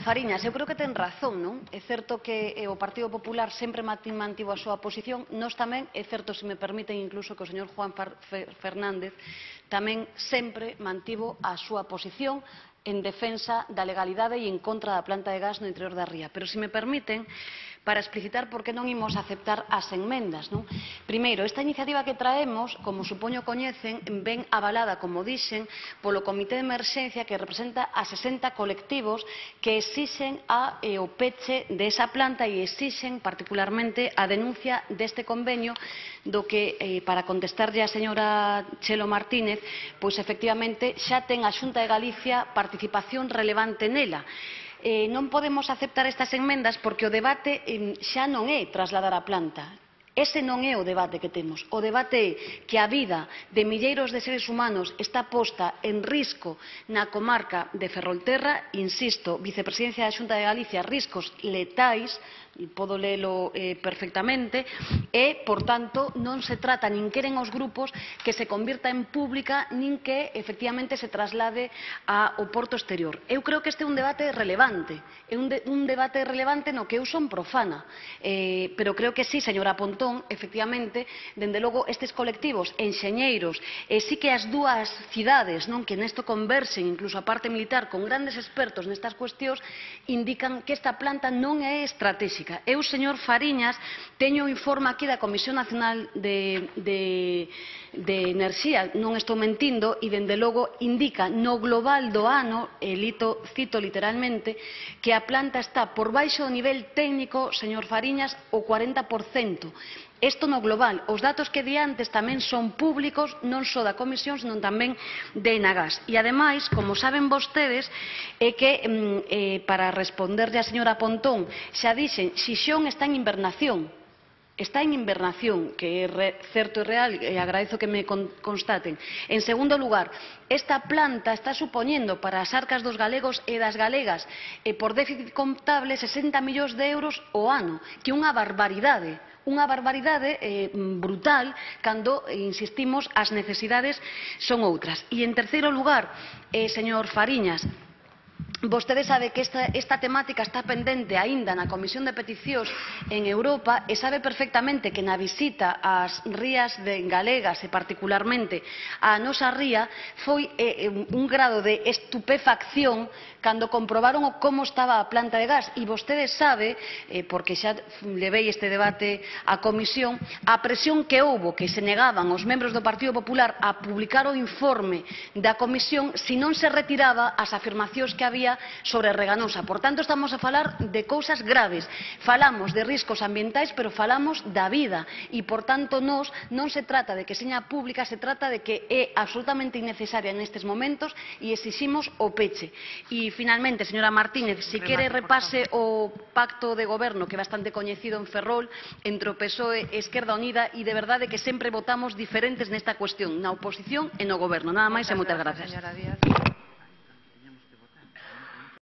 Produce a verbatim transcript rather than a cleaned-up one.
Fariñas, eu creo que ten razón, non? É certo que o Partido Popular sempre mantivo a súa posición, nós tamén, é certo, se me permiten, incluso que o señor Juan Fernández tamén sempre mantivo a súa posición en defensa da legalidade e en contra da planta de gas no interior da ría. Pero, se me permiten, para explicitar por que non imos aceptar as enmendas. Primeiro, esta iniciativa que traemos, como supoño coñecen, ven avalada, como dixen, polo Comité de Emerxencia que representa a sesenta colectivos que exixen o peche desa planta e exixen particularmente a denuncia deste convenio do que, para contestarlle a señora Chelo Martínez, pois efectivamente xa ten a Xunta de Galicia participación relevante nela. Non podemos aceptar estas enmendas porque o debate xa non é trasladar a planta. Ese non é o debate que temos. O debate é que a vida de milleiros de seres humanos está posta en risco na comarca de Ferrolterra, insisto, vicepresidencia da Xunta de Galicia, riscos letais, podo lelo perfectamente, e, por tanto, non se trata, nin queren os grupos, que se convirta en pública, nin que, efectivamente, se traslade ao porto exterior. Eu creo que este é un debate relevante, é un debate relevante no que eu son profana, pero creo que sí, señora Pontón, efectivamente, dende logo, estes colectivos enxeñeiros, e sí que as dúas cidades que nesto conversen, incluso a parte militar, con grandes expertos nestas cuestións, indican que esta planta non é estratégica. Eu, señor Fariñas, teño o informe aquí da Comisión Nacional de Enerxía, non estou mentindo, e, dende logo, indica no global do ano, e cito literalmente, que a planta está por baixo do nivel técnico, señor Fariñas, o cuarenta por cento. Isto no global. Os datos que di antes tamén son públicos, non só da Comisión, senón tamén de Enagas. E, ademais, como saben vostedes, é que, para responderlle á señora Pontón, xa dixen, Xixón está en invernación. Está en invernación, que é certo e real, e agradezo que me constaten. En segundo lugar, esta planta está supoñendo para as arcas dos galegos e das galegas, por déficit contable, sesenta millóns de euros ao ano, que é unha barbaridade. Unha barbaridade brutal cando, insistimos, as necesidades son outras. E, en terceiro lugar, señor Fariñas, vostede sabe que esta temática está pendente aínda na Comisión de Peticións en Europa e sabe perfectamente que na visita ás rías galegas e particularmente a nosa ría foi un grado de estupefacción cando comprobaron como estaba a planta de gas. E vostede sabe, porque xa levei este debate á Comisión, a presión que houbo que se negaban os membros do Partido Popular a publicar o informe da Comisión se non se retiraba as afirmacións que había sobre Reganosa. Por tanto, estamos a falar de cousas graves. Falamos de riscos ambientais, pero falamos da vida. E, por tanto, nos non se trata de que seña pública, se trata de que é absolutamente innecesaria nestes momentos e exiximos o peche. E, finalmente, señora Martínez, se quere repase o pacto de goberno, que é bastante coñecido en Ferrol, entre o P S O E e Esquerda Unida, e de verdade que sempre votamos diferentes nesta cuestión, na oposición e no goberno. Nada máis e moitas grazas.